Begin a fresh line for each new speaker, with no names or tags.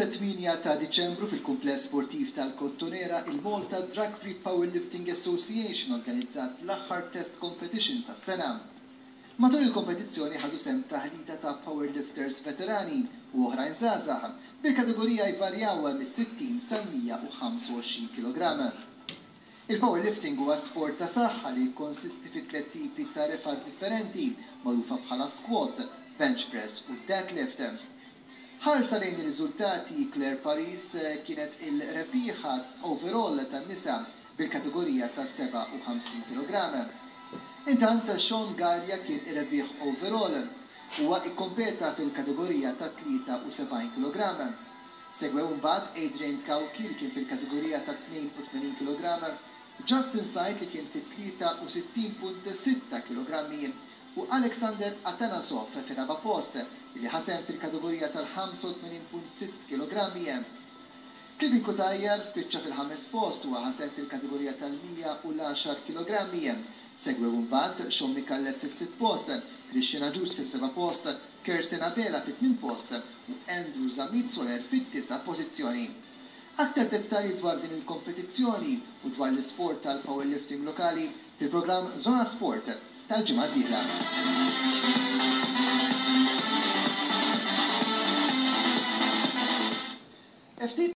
8 ta' Diċembru fil-Kumpless Sportiv tal-Kottonera, il-Malta Drug Free Powerlifting Association organizzat l-aħħar test competition tas-sena. Matul il-kompetizzjoni ħadu sehem taħlita ta' powerlifters veterani u oħrajn żgħażagħ, bil-kategorija jvarjaw mis-60 sal-125 kilogramm. Il-powerlifting huwa sport ta' saħħa li jikkonsisti fi tliet tipi ta' refgħat differenti magħrufa bħala squat, bench press u deadlift. Ħarsa lejn ir-riżultati, Claire Paris kienet il-rebbieħa overall tan-nisa bil-kategorija ta' 57 kilogramm. Intant Sean Gallia kien ir-rebbieħ overall. Huwa ikkompeta fil-kategorija ta' 73 kilogramm. Segwew imbagħad Adrian Cauchi li kien fil-kategorija ta' 82 kilogramm, Justin Said li kien fit-63.6 kilogrammi u Alexander Atanasov fir-raba' post li ħa sehem fil-kategorija tal-85.6 kilogrammi. Clivin Cutajar spiċċa fil-ħames post u ħa sehem fil-kategorija tal-110 kilogrammi. Segwew imbagħad Sean Micallef fis-sitt post, Christian Agius fis-seba' post, Kirsten Abela fit-tmien post u Andrew Zammit Soler fid-disa' pożizzjoni. Aktar dettalji dwar din il-kompetizzjoni u dwar l-isport tal-powerlifting lokali fil-programm Zona Sport tal-ġimgħa d-dieħla. Ftit.